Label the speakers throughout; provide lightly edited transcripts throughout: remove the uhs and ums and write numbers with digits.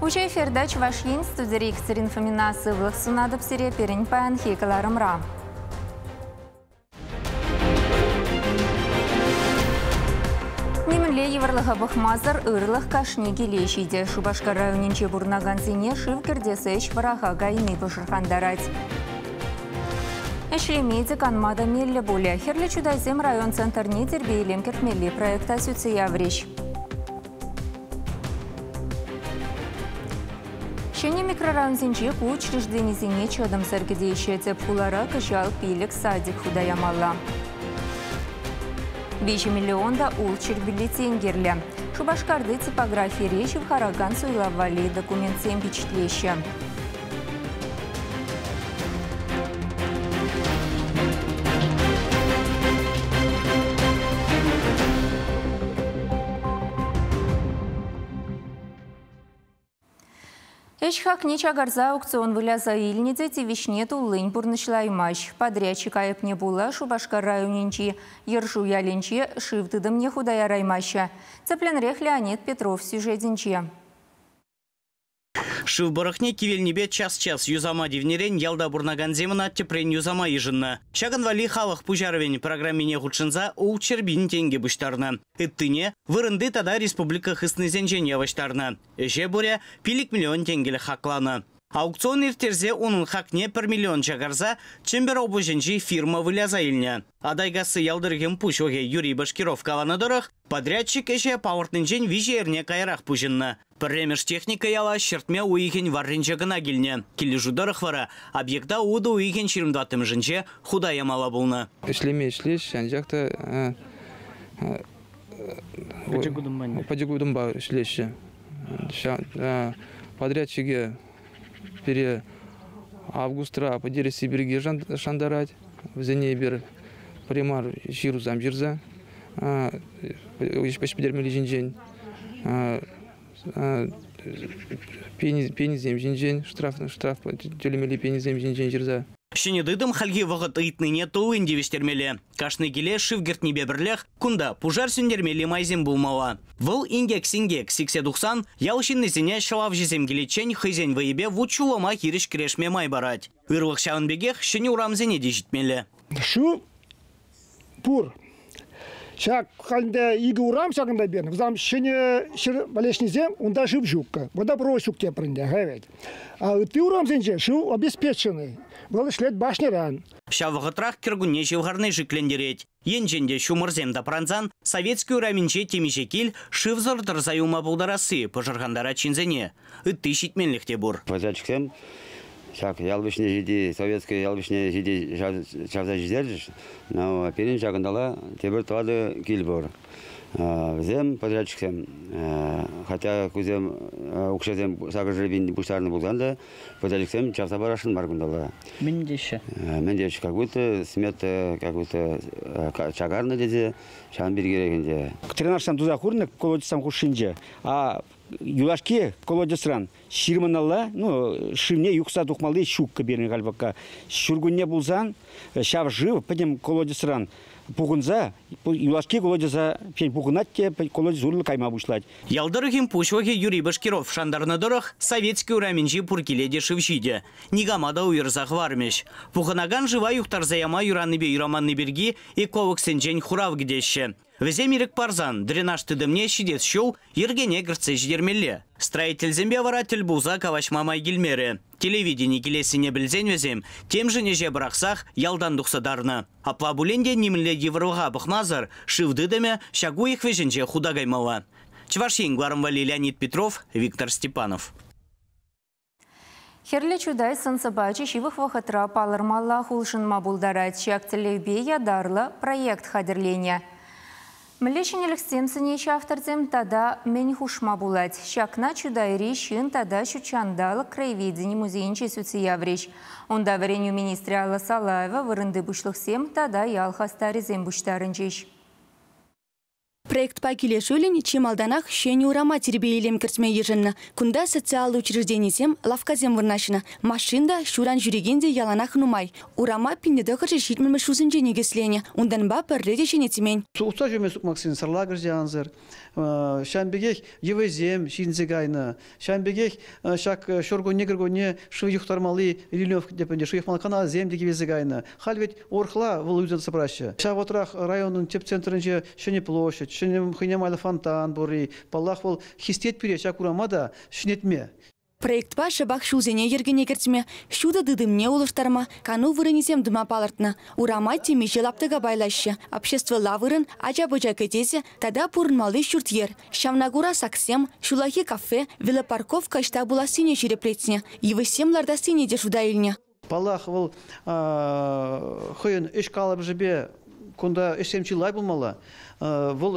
Speaker 1: Уҫӑ эфирта Чӑваш Ен, студире Екатерина Фомина. Сывлӑх сунатӑп сире пирӗн паянхи кӑларӑмра. Нимӗнле йывӑрлӑха пӑхмасӑр ырлӑх кашни киле ҫитӗ. Шупашкар районӗнче пурӑнакансене шыв кӗртес ӗҫ вӑраха кайни пӑшӑрхантарать. Ӗҫлеме те, канма та меллӗ пулӗ. Хӗрлӗ Чутайсем район центрне тирпей-илем кӗртмелли проекта сӳтсе яврӗҫ. Ҫӗнӗ микрорайонсенче ку учрежденисене чӑтӑмсӑр кӗтеҫҫӗ. Тӗп хулара кӑҫал 5 садик хута ямалла. 3 миллион та ултҫӗр бюллетень кирлӗ. Шупашкарти типографире ҫывхаракан суйлав валли документсем пичетлеҫҫӗ. Ӗҫ хакне чакарса аукцион выляса илнӗ те тивӗҫне туллин пурнӑҫлаймасть. Подрядчик айӑпне пула Шупашкар районӗнчи Йӑршу ялӗнче шыв тытӑмне хута яраймаҫҫӗ. Тӗплӗнрех Леонид Петров сюжетӗнче.
Speaker 2: Шыв пӑрӑхне кивелнипе час-час юсама тивнӗрен ялта пурӑнакансем ӑна тӗпрен юсама йышӑннӑ. Ҫакӑн валли халӑх пуҫарӑвӗн программине хутшӑнса 600 000 тенкӗ пуҫтарнӑ. Ыттине вырӑнти тата республика хыснисенчен явӑҫтарнӑ. Ӗҫе пурӗ 5 миллион тенкӗлӗх хакланӑ. Аукцион ирттерсе унӑн хакне 1 миллион чакарса Чӗмпӗр облаҫӗнчи фирма выляса илнӗ. Атайкасси ял тӑрӑхӗн пуҫлӑхӗ Юрий Башкиров каланӑ тӑрӑх, подрядчик ӗҫе палӑртнинчен 3 эрне каярах пуҫӑннӑ. Пӗрремӗш техника яла ҫӗртме уйӑхӗн варринче кӑна килнӗ. Килӗшӳ тӑрӑх вара объекта утӑ уйӑхӗн 24-мӗшӗнче хута ямалла пулнӑ.
Speaker 3: Ӗҫлеме ӗҫлеҫ, анчах та пӗчӗк утӑмпа ӗҫлеҫҫӗ. Подрядчике пире августра пӗтересси пирки шантарать. Вӗсене эпир примар ҫырусем ҫырса ӗҫ пӗтермелли ҫинчен, пенисем ҫинчен, штраф тӳлемелли пенисем ҫинчен ҫырса.
Speaker 2: Ҫӗнӗ тытӑм хальхи вӑхӑт ыйтнине туллин тивӗҫтермелле. Кашни киле шыв кӗртнипе пӗрлех кунта пушар сӳнтермелли майсем пулмалла. Вӑл инкек-синкек сиксе тухсан ял ҫыннисене ҫӑлавҫӑсем киличчен хӑйсен вӑйӗпе вут-ҫулӑма хирӗҫ кӗрешме май парать. Ырлӑх ҫавӑн пекех ҫӗнӗ урамсене те ҫитмелле.
Speaker 4: Шыв пур. Ҫак халӗ икӗ урам ҫакӑнта пирӗн. Вӗсем ҫӗнӗ ҫӗр валеҫнисем, унта шыв ҫуккӑ. Водопровод ҫук тепӗр ӗнтӗ, вӗт. А ытти урамсенче шыв обеспеченный. Вӑл ӗҫлет башньӑран.
Speaker 2: Ҫав вӑхӑтрах кӗркунне ҫывхарни шиклентерет. Енчен те ҫумӑрсем тапрансан Советски урамӗнче темиҫе кил шывсӑр тӑрса юлма пултарасси пӑшӑрхантарать ҫынсене. Ытти ҫитменлӗх те пур.
Speaker 5: Подрядчиксем ҫак ял вӗҫне ҫити, Советски ял вӗҫне ҫити чавса ҫитерчӗҫ. Но пирӗн ҫакӑнтала тепӗр 4 кил пур. Вӗсем, подрядчиксем, хотя кусем укҫасем сакӑр пин пуҫтарнӑ пулсан та, подрядчиксем чавса парасшӑн мар кунталла.
Speaker 2: Мӗн теҫҫӗ?
Speaker 5: Мӗн теҫҫӗ, как будто смета как будто чакарнӑ тесе, ҫавӑн пиркирех ӗнтӗ.
Speaker 6: Тренажсем туса хурнӑ колодецсем хушшинче, а юлашки колодецран ҫырманалла, ну, шывне юхса тухмалли ҫуккӑ пирӗн халь пока. Ҫуркунне пулсан ҫав шыв пӗтӗм колодецран пухӑнса, юлашки колодеца пухӑнать те колодец урлӑ кайма пуҫлать.
Speaker 2: Ял тӑрӑхӗн пуҫлӑхӗ Юрий Башкиров шантарнӑ тӑрӑх, Советски урамӗнчи пур киле те шыв ҫитӗ. Никама та уйӑрса хӑвармӗҫ. Пухӑнакан шыва юхтарса яма юраннипе юраманни пирки экологсенчен хурав кӗтеҫҫӗ. Вӗсем ирӗк парсан дренаж тытӑмне ҫитес ҫул йӗркене кӗртсе ҫитермелле. Строительсемпе вара тӗл пулса калаҫма май килмерӗ. Телевидени килессине пӗлсен вӗсем темшӗн ӗҫе пӑрахсах ялтан тухса тарнӑ. Апла пулин те нимӗнле йывӑрлӑха пӑхмасӑр шыв тытӑмӗ ҫак уйӑх вӗҫӗнче хута каймалла. Чӑваш Ен кӑларӑм валли Леонид Петров, Виктор Степанов.
Speaker 1: Хӗрлӗ Чутай сӑн-сӑпачӗ ҫывӑх вӑхӑтра палӑрмаллах улшӑнма пултарать. Ҫак тӗллевпе ятарлӑ проект хатӗрленӗ. Мӗнле ҫӗнӗлӗхсем сӗнеҫҫӗ авторсем тата мӗн хушма пулать? Ҫакна Чутайри ҫын тата ҫутҫанталӑк краеведени музейӗнче сӳтсе яврӗҫ. Унта вӗренӳ министрӗ Алла Салаева, вырӑнти пуҫлӑхсем тата ял хастарӗсем пуҫтарӑнчӗҫ.
Speaker 7: Проектпа килӗшӳллӗн чи малтанах ҫӗнӗ урама тирпей-илем кӗртме йышӑннӑ. Кунта социаллӑ учрежденисем, лавккасем вырнаҫнӑ. Машин та, ҫуран ҫӳрекен те яланах нумай. Урама 1970-мӗш ҫулсенче никӗсленӗ. Унтанпа пӗрре те ҫӗнетмен.
Speaker 8: Утса ҫӳреме сукмаксен сарлакӑшӗ ансӑр. Ҫавӑн пекех йывӑҫсем ҫитӗнсе кайнӑ. Ҫавӑн пекех ҫак ҫуркунне-кӗркунне шыв юхтармалли ливневка тӗпӗнче шыв юхмалли каналсем те кивелсе кайнӑ. Халь вӗт урӑхла вӑл ӳссе тӑраҫҫӗ. Ҫав вӑхӑтрах районӑн тӗп центрӗнче ҫӗнӗ площадь, ҫӗнӗ хӑйне майлӑ фонтан пурри. Паллах, вӑл хистет пире ҫак урама та ҫӗнетме.
Speaker 7: Проектпа шӑпах ҫулсене йӗркене кӗртме, ҫутӑ тытӑмне улӑштарма, кану вырӑнӗсем тума палӑртнӑ. Урама темиҫе лаптӑка пайлаҫҫӗ. Обществӑлла вырӑн, ача-пӑча кӗтесӗ тата пурӑнмалли ҫурт-йӗр. Ҫавна кура саксем, ҫуллахи кафе, велопарковка ӑҫта пулассине ҫирӗплетнӗ. Йывӑҫсем лартассине те шута илнӗ.
Speaker 8: Паллах, вӑл хӑйӗн ӗҫ калӑпӑшӗпе кунта ӗҫсем чылай пулмалла. Вӑл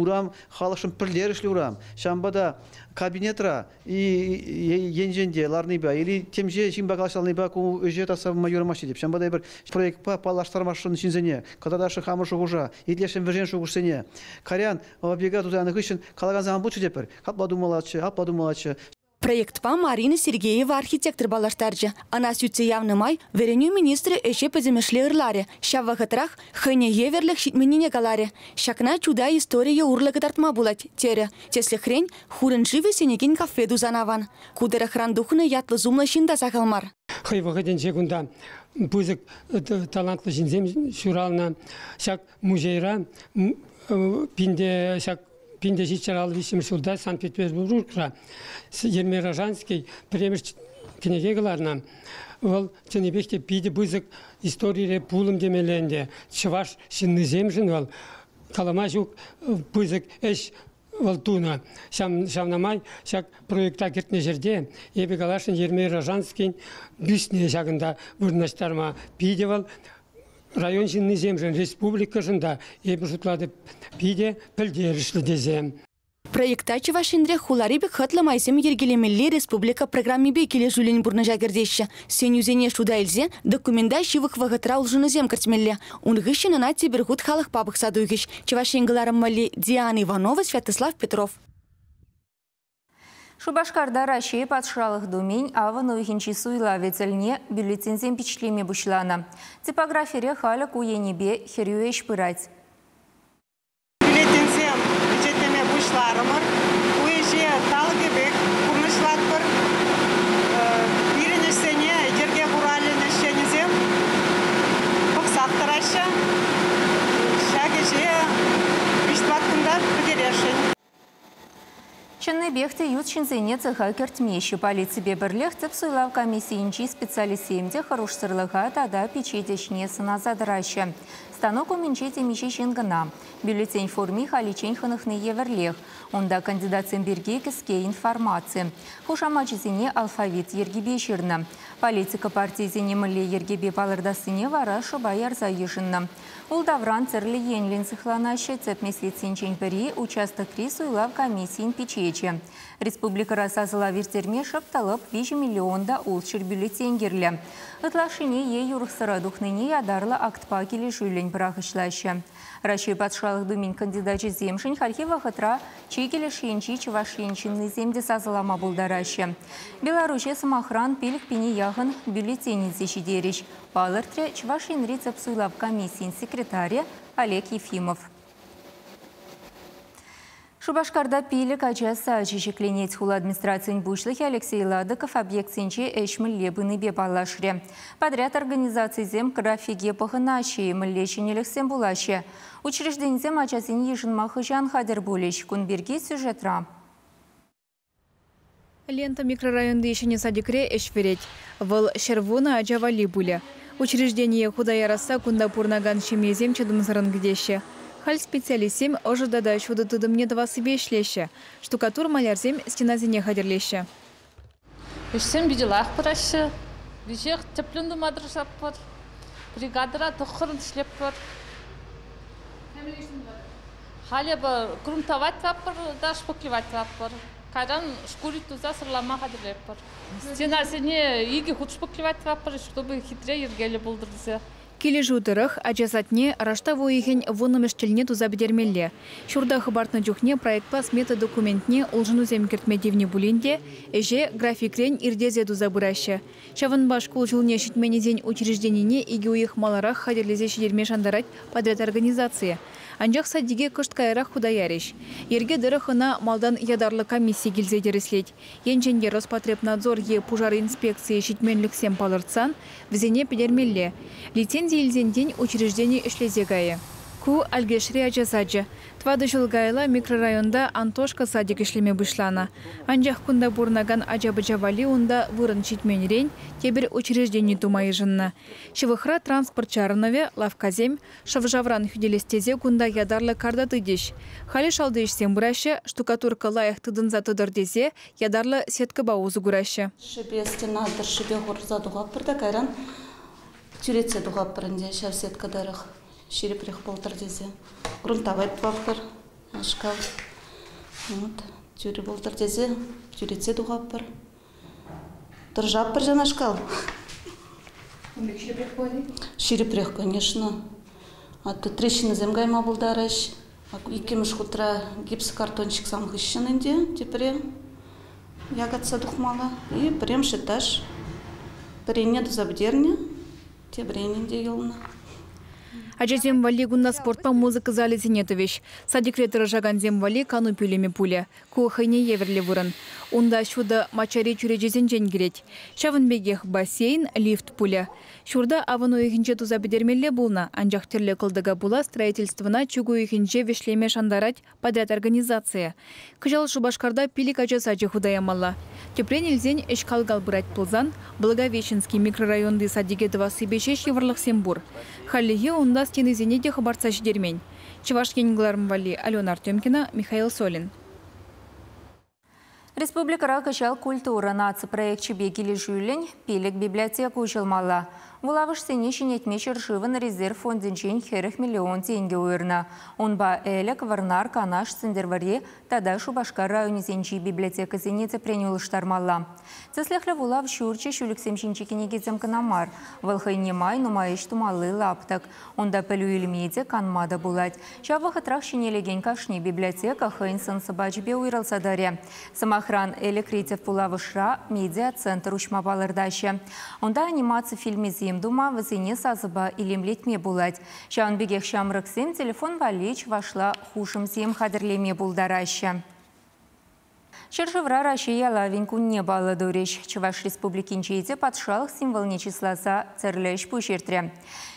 Speaker 8: урам халӑхшӑн пӗрлерӗшлӗ урам. Ҫавӑнпа та кабинетра енчен те ларнипе или темиҫе ҫынпа калаҫланипе ку ӗҫе татса пама юрамасть тетӗп. Ҫавӑнпа та эпир проектпа паллаштармашӑн ҫынсене, кӑтартасшӑн хамӑр шухӑша, итлесшӗн вӗсен шухӑшсене. Кайран объекта туса янӑ хыҫҫӑн калакансем ан пулччӑр тетпӗр. Капла тумаллаччӗ, апла тумаллаччӗ.
Speaker 7: Проектпа Марина Сергеева архитектор паллаштарчӗ. Ӑна сӳтсе явнӑ май вӗренӳ министрӗ ӗҫе пӗтӗмӗшле ырларӗ. Ҫав вӑхӑтрах хӑйне евӗрлӗх ҫитменнине каларӗ. Ҫакна Чутай историйӗ урлӑ кӑтартма пулать, терӗ. Тӗслӗхрен, хурӑн шывӗ сӗнекен кафе тусан аван. Ку тӑрӑхран тухнӑ ятлӑ-сумлӑ ҫын та сахал мар.
Speaker 9: Хӑй вӑхӑтӗнче кунта пысӑк талантлӑ ҫынсем ҫуралнӑ. Ҫак музейра пинте ҫак 1753 ҫулта Санкт-Петербургра Ермей Рожанский пӗрремӗш кӗнеке кӑларнӑ. Вӑл чӑннипех те питӗ пысӑк историре пулӑм темелле ӗнтӗ. Чӑваш ҫыннисемшӗн вӑл калама ҫук пысӑк ӗҫ вӑл тунӑ. Ҫавна май ҫак проекта кӗртнӗ ҫӗрте эпӗ каласшӑн Ермей Рожанскин бюстне ҫакӑнта вырнаҫтарма питӗ вӑл район ҫыннисемшӗн, республикӑшӑн та, эпӗ шутлатӑп, питӗ пӗлтерӗшлӗ тесе.
Speaker 7: Проекта Чӑваш Енре хулари пек хӑтлӑ майсем йӗркелемелли республика программипе килӗшӳллӗн пурнӑҫа кӗртеҫҫӗ. Сӗнӳсене шута илсе документа ҫывӑх вӑхӑтра улшӑнусем кӗртмелле. Ун хыҫҫӑн ӑна тепӗр хут халӑхпа пӑхса тухӗҫ. Чӑваш Ен кӑларӑм валли Диана Иванова, Святослав Петров.
Speaker 1: Шупашкарта Раҫҫей Патшалӑх Думин авӑн уйӑхӗнчи суйлавӗ тӗлне бюллетеньсем пичетлеме пуҫланӑ. Типографире халӗ ку енӗпе хӗрӳ ӗҫ пырать.
Speaker 10: Бюллетеньсем пичетлеме пуҫларӑмӑр. Ку ӗҫе талӑкӗпех пурнӑҫлатпӑр. Пирӗн ӗҫсене йӗрке хуралӗн ӗҫченӗсем пӑхсах тӑраҫҫӗ. Ҫак ӗҫе виҫ-тӑват кунта пӗтересшӗн.
Speaker 1: Чӑннипех те ют ҫынсене цеха кӗртмеҫҫӗ. Полиципе пӗрлех тӗп суйлав комиссийӗнчи специалистсем те хӑрушсӑрлӑха тата пичет ӗҫне сӑнаса тӑраҫҫӗ. Станок умӗнче темиҫе ҫын кӑна. Бюллетень форми халиччен хӑнӑхнӑ евӗрлех. Унта кандидатсем пирки кӗске информаци. Хушамачӗсене алфавит йӗркипе ҫырнӑ. Политика партийӗсене мӗнле йӗркепе палӑртассине вара шӑпа ярса йышӑннӑ. Ултавран тӗрлӗ енлӗн сыхланаҫҫӗ. Тӗп меслетсенчен пӗри участокри суйлав комиссийӗн пичечӗ. Республикӑра сасӑлав ирттерме шӑп та лӑп 3 миллион та 600 бюллетень кирлӗ. Ытлашшине е юрӑхсӑра тухнине ятарлӑ актпа килӗшӳллӗн пӑрахӑҫлаҫҫӗ. Раҫҫей Патшалӑх Думин кандидачӗсемшӗн хальхи вӑхӑтра чикӗ леш енчи Чӑваш Ен ҫыннисем те сасӑлама пултараҫҫӗ. Беларуҫе, сӑмахран, 5 пине яхӑн бюллетень илсе ҫитерӗҫ. Палӑртрӗ Чӑваш Енри тӗп суйлав комиссийӗн секретарӗ Олег Ефимов. Шупашкарта пилӗк ача сачӗ ҫӗкленет. Хула администрацийӗн пуҫлӑхӗ Алексей Ладыков объектсенче ӗҫ мӗнле пынипе паллашрӗ. Подряд организацийӗсем графике пӑхӑнаҫҫӗ-и, мӗнле ҫӗнӗлӗхсем пулаҫҫӗ. Учрежденисем ачасене йышӑнма хӑҫан хатӗр пулӗҫ. Кун пирки сюжетра.
Speaker 11: Лента микрорайонти ҫӗнӗ садикре ӗҫ вӗрет. Вӑл 110 ача валли пулӗ. Учреждение хута ярасса кунта пурӑнакан ҫемьесем чӑтӑмсӑррӑн кӗтеҫҫӗ. Халь специалистсем ӑшӑ тата ҫутӑ тытӑмне тӑвассипе ӗҫлеҫҫӗ. Штукатур малярсем стенасене хатӗрлеҫҫӗ.
Speaker 12: Ӗҫсем питӗ лайӑх пыраҫҫӗ. Веҫех тӗплӗн тума тӑрӑшатпӑр. Бригадӑра тӑххӑрӑн ӗҫлетпӗр. Халӗ грунтовать тӑватпӑр та шпаклевать тӑватпӑр. Кайран шкурить туса сӑрлама хатӗрлетпӗр. Стенасене икӗ хут шпаклевать тӑватпӑр, чтобы хитре йӗркеллӗ пултӑр тесе.
Speaker 11: Килӗшӳ тӑрӑх, ача садне раштав уйӑхӗн вуннӑмӗш тӗлне туса пӗтермелле. Ҫурта хӑпартнӑ чухне проектпа смета документне улшӑнусем кӗртме тивнӗ пулин те ӗҫе графикрен ирттерсе туса пыраҫҫӗ. Ҫавӑнпа шкул ҫулне ҫитменнисен учрежденине икӗ уйӑх маларах хатӗрлесе ҫитерме шантарать подряд организацийӗ. Анчах садике кӑшт каярах хута ярӗҫ. Йӗрке тӑрӑх ӑна малтан ятарлӑ комисси килсе тӗрӗслет. Енчен те Роспотребнадзор е пушар инспекцийӗ ҫитменлӗхсем палӑртсан вӗсене пӗтермелле. Лицензи илсен тин учреждени ӗҫлесе кайӗ. Ку Алькешри ача сачӗ. Тӑватӑ ҫул каялла микрорайонта Антошка садик ӗҫлеме пуҫланӑ. Анчах кунта пурӑнакан ача-пӑча валли унта вырӑн ҫитменрен тепӗр учреждени тума йышӑннӑ. Ҫывӑхра транспорт чарӑнӑвӗ, лавккасем, шӑв-шавран хӳтӗлес тесе кунта ятарлӑ карта тытӗҫ. Халӗ шалти ӗҫсем пыраҫҫӗ, штукатурка лайӑх тытӑнса тӑтӑр тесе ятарлӑ сеткӑпа усӑ кураҫҫӗ.
Speaker 13: Шӗпе стена тӑршшӗпе хурса тухатпӑр та кайран тӳретсе тухатпӑр ӗнтӗ ҫав сетка тӑрӑх ҫирӗпрех пултӑр тесе. Грунтовать тӑватпӑр шкаф. Вот, тӳрӗ пултӑр тесе тӳретсе тухатпӑр. Тӑрӑшатпӑр ҫавнашкал.
Speaker 11: Ун пек ҫирӗпрех пулать-и?
Speaker 13: Ҫирӗпрех, конечно. А то трещинӑсем кайма пултарӗҫ. Иккӗмӗш хутра гипсокартонщиксем хыҫҫӑн ӗнтӗ тепре якатса тухмалла. И пӗрремӗш этаж пӗренне туса пӗтернӗ, тепӗренӗн те юлнӑ.
Speaker 11: Ачасем валли кунта спортпа музыка залӗсене тӑвӗҫ. Садикре тӑрӑшакансем валли кану пӳлӗмӗ пулӗ. Ку хӑйне евӗрлӗ вырӑн. Унта ҫутӑ маччари чӳречесенчен килет. Ҫавӑн пекех бассейн, лифт пулӗ. Ҫурта авӑн уйӑхӗнче туса пӗтермелле пулнӑ, анчах тӗрлӗ кӑлтӑка пула строительствӑна чӳк уйӑхӗнче вӗҫлеме шантарать подряд организацийӗ. Кӑҫал Шупашкарта пилӗк ача сачӗ хута ямалла. Тӗпрен илсен ӗҫ кал-кал пырать пулсан Благовещенски микрорайонти садике тӑвассипе ҫеҫ йывӑрлӑхсем пур. Хальлӗхе унта стенисене те хӑпартса ҫитермен. Чӑваш Ен кӑларӑм валли Алена Артемкина, Михаил Солин.
Speaker 1: Республикӑра кӑҫал культура наци проекчӗпе килӗшӳллӗн пилӗк библиотека уҫӑлмалла. Вулавӑшсене ҫӗнетме ҫӗршывӑн резерв фондӗнчен 40 миллион тенкӗ уйӑрнӑ. Унпа Элӗк, Вӑрнар, Канаш, Сӗнтӗрвӑрри тата Шупашкар районӗсенчи библиотекӑсене тӗпрен улӑштармалла. Тӗслӗхлӗ вулав ҫурчӗ ҫӳлӗксем ҫинчи кӗнекесем кӑна мар. Вӑл хӑйне май нумай ӗҫ тумалли лаптӑк. Унта пӗлӳ илме те, канма та пулать. Ҫав вӑхӑтрах ҫӗнелекен кашни библиотека хӑйӗн сӑн-сӑпачӗпе уйрӑлса тӑрӗ. Сӑмахран, Элӗкри тӗп вулавӑшра медиа-центр уҫма палӑртаҫҫӗ. Унта анимаци фильмӗсем тума, вӗсене сасӑпа илемлетме пулать. Ҫавӑн пекех ҫамрӑксем телефон валли чӑвашла хушӑмсем хатӗрлеме пултараҫҫӗ. Ҫӗршывра Раҫҫей ялавӗн кунне паллӑ турӗҫ. Чӑваш Республикинче те патшалӑх символне чысласа тӗрлӗ ӗҫ-пуҫ иртрӗ.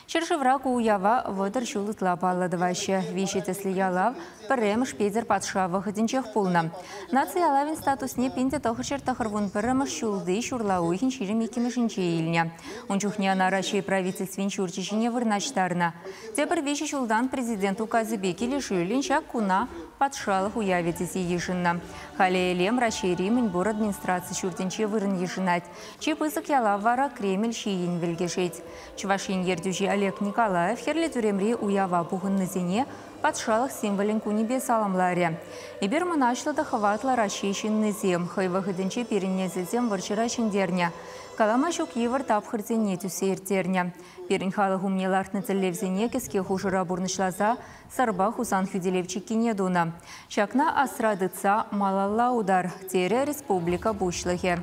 Speaker 1: Ҫӗршывра ку уява 30 ҫул ытла паллӑ тӑваҫҫӗ. Виҫӗ тӗслӗ ялав пӗрремӗш Петӗр патша вӑхӑтӗнчех пулнӑ. Наци ялавӗн статусне 1991 ҫулти ҫурла уйӑхӗн 22-мӗшӗнче илнӗ. Ун чухне ӑна Раҫҫей правительствин ҫурчӗ ҫине вырнаҫтарнӑ. Тепӗр виҫӗ ҫултан президент указӗпе килӗшӳллӗн ҫак куна патшалӑх уявӗ тесе йышӑннӑ. Халӗ Элем Раҫҫейри мӗнпур администраци ҫуртӗнче вырӑн йышӑнать. Чи пысӑк ялав вара Кремль ҫийӗн вӗлкӗшет. Чӑваш Ен ертӳҫи Олег Николаев Хӗрлӗ тӳремри уява пухӑннисене патшалӑх символӗн кунӗпе саламларӗ. Эпир мӑнаҫлӑ та хӑватлӑ Раҫҫей ҫыннисем. Хӑй вӑхӑтӗнче пирӗн несӗлсем вӑрҫӑра ҫӗнтернӗ. Калама ҫук йывӑр тапхӑрсене тӳссе ирттернӗ. Пирӗн халӑх умне лартнӑ тӗллевсене кӗске хушӑра пурнӑҫласа Сӑрпа Хусан хӳтӗлев чиккине тунӑ. Ҫакна асра тытса малалла утар, терӗ республика Пуҫлӑхӗ.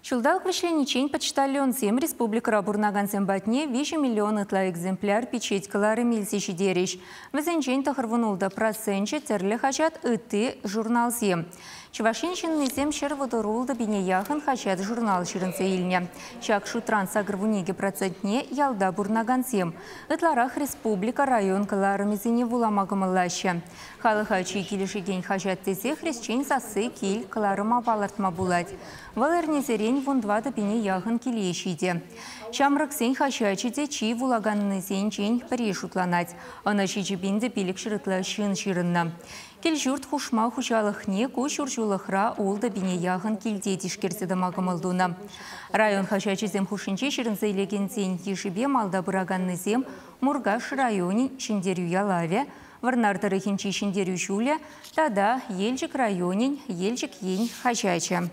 Speaker 1: Ҫулталӑк вӗҫлениччен почтальонсем республикӑра пурӑнакансем патне 3 миллион ытла экземпляр пичет кӑларӑмӗ илсе ҫитерӗҫ. Вӗсенчен 96 проценчӗ тӗрлӗ хаҫат, ытти журналсем. Чӑваш Ен ҫыннисем 136 пине яхӑн хаҫат-журнал ҫырӑнса илнӗ. Ҫак шутран 82 процентне ялта пурӑнакансем. Ытларах республика, район кӑларӑмӗсене вулама кӑмӑллаҫҫӗ. Халӑха чи килӗшекен хаҫат тесе Хресчен сасси кил кӑларӑма палӑртма пулать. Вӑл эрнесерен 14 пине яхӑн киле ҫитӗ. Ҫамрӑксен хаҫачӗ те чи вулаканнисенчен пӗри шутланать. Ӑна 7500 ытла ҫын ҫырӑннӑ. Кил-ҫурт хушма хуҫалӑхне ку ҫурҫулӑхра ултӑ пине яхӑн килте тишкерсе тӑма кӑмӑл тунӑ. Район хаҫачӗсем хушшинче ҫырӑнса илекенсен йышӗпе малта пыраканнисем Муркаш районӗн Ҫӗнтерӳ ялавӗ, Вӑрнар тӑрӑхӗнчи Ҫӗнтерӳ ҫулӗ тата Елчӗк районӗн Елчӗк ен хаҫачӗ.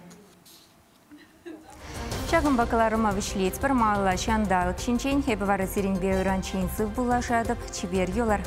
Speaker 1: Ҫакӑнпа кӑларӑма вӗҫлетпӗр. Малалла ҫанталӑк ҫинчен. Эпӗ вара сирӗнпе ыранччен сыв пуллашатӑп. Чипер юлӑр.